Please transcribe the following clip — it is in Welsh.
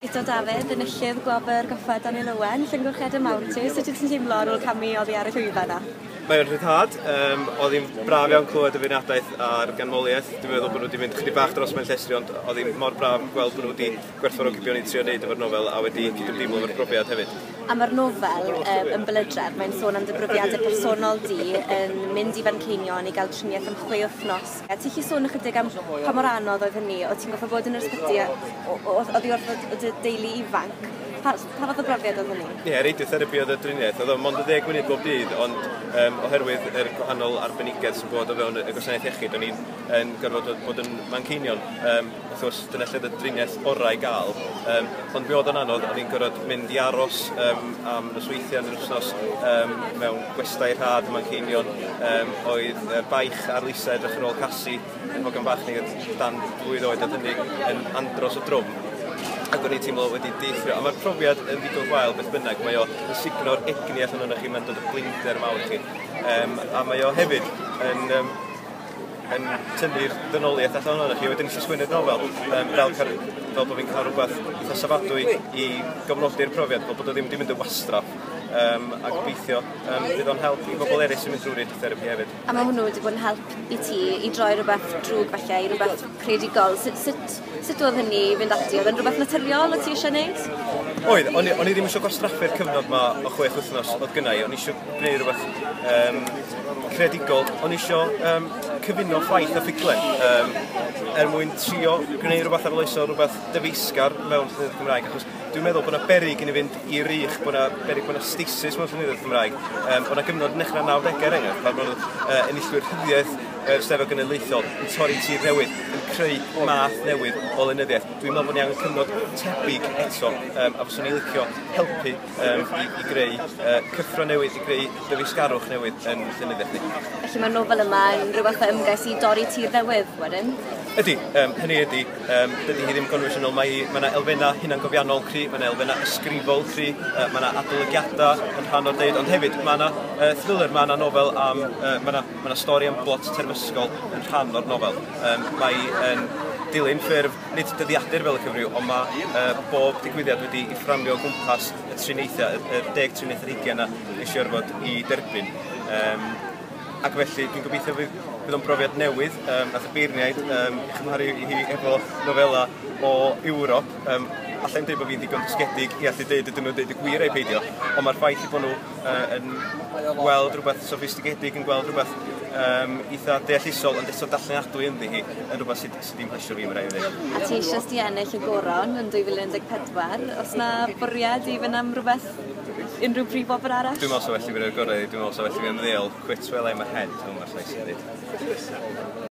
Guto Dafydd, enillydd Gwobr Goffa Daniel Owen, llongyfarchiadau mawr i ti. Sut wyt ti'n teimlo ar ôl camu oddi ar y llwyfan 'na? Mae o'n rhyddhad. Oedd hi'n braf iawn clywed y feirniadaeth a'r ganmoliaeth. Dwi'n meddwl bod nhw wedi mynd chydig bach dros ben llestri, ond oedd hi'n mor braf gweld bod nhw wedi gwerthfawrogi be o'n i'n trio wneud efo'r nofel a wedi cydymdeimlo efo'r profiad hefyd. A mae'r nofel yn Belydraf, mae'n sôn am dy brofiadau personol di yn mynd i Fanceinion i gael triniaeth am 6 wythnos. A ti'n gallu sôn ychydig am pa mor anodd oedd hynny? Oedd ti'n gorfod bod yn yr ysbyty oddi wrth dy deulu ifanc? Pa fath o brofiad oedd hynny? Ie, yeah, radiotherapi oedd y driniaeth. Oedd o mond y 10 munud bob dydd, ond oherwydd yr gwahanol arbenigedd sy'n bod o fewn y gwasanaeth iechyd, o'n i'n yn gorfod bod yn Manceinion. Wrth gwrs, dyna lle oedd y driniaeth orau i gael. Ond mi oedd o'n anodd, o'n i'n gorfod mynd i aros am nosweithiau yn yr wythnos mewn gwestai rhad yn Manceinion. Oedd baich ar Lisa edrych ar ôl Casi, yn hogan bach ni dan 2 oed oedd hynny, yn andros o drwm ac o'n i'n teimlo wedi deithio. A mae'r profiad yn ddigon gwael beth bynnag. Mae o yn sugno'r egni allan o'n chi, mae'n dod o blinder mawr i chi. A mae o hefyd yn tynnu'r dynoliaeth allan o'n chi. Wedyn nes i sgwennu'r nofel fel bod fi'n cael rhywbeth eitha safadwy i gofnodi'r profiad, fel bod o ddim wedi mynd yn wastraff. A gobeithio fydd o'n help i bobl eraill sy'n mynd drwy radiotherapy hefyd. A mae hwnnw wedi bod yn help i ti i droi rhywbeth drwg falle i rhywbeth creadigol. Sut oedd hynny i fynd ati? Oedd yn rhywbeth naturiol o ti eisiau gwneud? Oedd, o'n i ddim eisiau gwastraffu'r cyfnod ma o 6 wythnos oedd gynna i. O'n i eisiau gwneud rhywbeth creadigol. O'n i eisiau cyfuno ffaith a ffuglen er mwyn trio gwneud rhywbeth arloesol, rhywbeth dyfeisgar mewn llenyddiaeth Gymraeg. Achos dwi'n meddwl bod yna beryg i ni fynd i rych, bod yna beryg bod yna stasis mewn llenyddiaeth Gymraeg. Bod yna gyfnod yn dechrau 90au er enghraifft, pan bod enillwyr rhyddiaeth yr Steddfod Genedlaethol yn torri tir newydd, yn creu math newydd o lenyddiaeth. Dwi'n meddwl bod ni angen cyfnod tebyg eto, a fyswn i'n licio helpu i greu cyffro newydd, i greu dyfeisgarwch newydd yn llenyddiaeth ni. Felly mae'r nofel yma yn rhyw fath o ymgais i dorri tir newydd wedyn? Ydy, hynny ydy, dydy hi ddim gonfensiynol, mae yna elfennau hunangofiannol cry, mae yna elfennau ysgrifol cry, mae yna adolygiadau yn rhan o'r deud, ond hefyd mae yna thriller, mae yna nofel am, mae yna stori am blot terfysgol yn rhan o'r nofel. Mae yn dilyn ffurf, nid dyddiadur fel y cyfryw, ond mae bob digwyddiad wedi i fframio o gwmpas y triniaethau, y 10 triniaeth ar hugain na nes i orfod i derbyn. Ac felly dwi'n gobeithio fydd o'n brofiad newydd. Nath y beirniaid ei chymharu hi efo nofela o Ewrop. Allai'n dweud bod fi'n ddigon dysgedig i allu dweud ydyn nhw'n dweud y gwir ai peidio, ond mae'r ffaith i bod nhw yn gweld rhywbeth soffistigedig, yn gweld rhywbeth eitha deallusol, ond eto darllenadwy ynddi hi, yn rhywbeth sydd ddim plesio fi, mae'n rhaid i ddweud. A ti eisoes di ennill y goron yn 2014. Oes na bwriad i fynd am rhywbeth, unrhyw brif wobr arall? Dwi'n meddwl sa well i fi roi'r gorau, dwi'n meddwl sa well i fi ymddeol, quit while I'm ahead, fel mae'r llais yn dweud.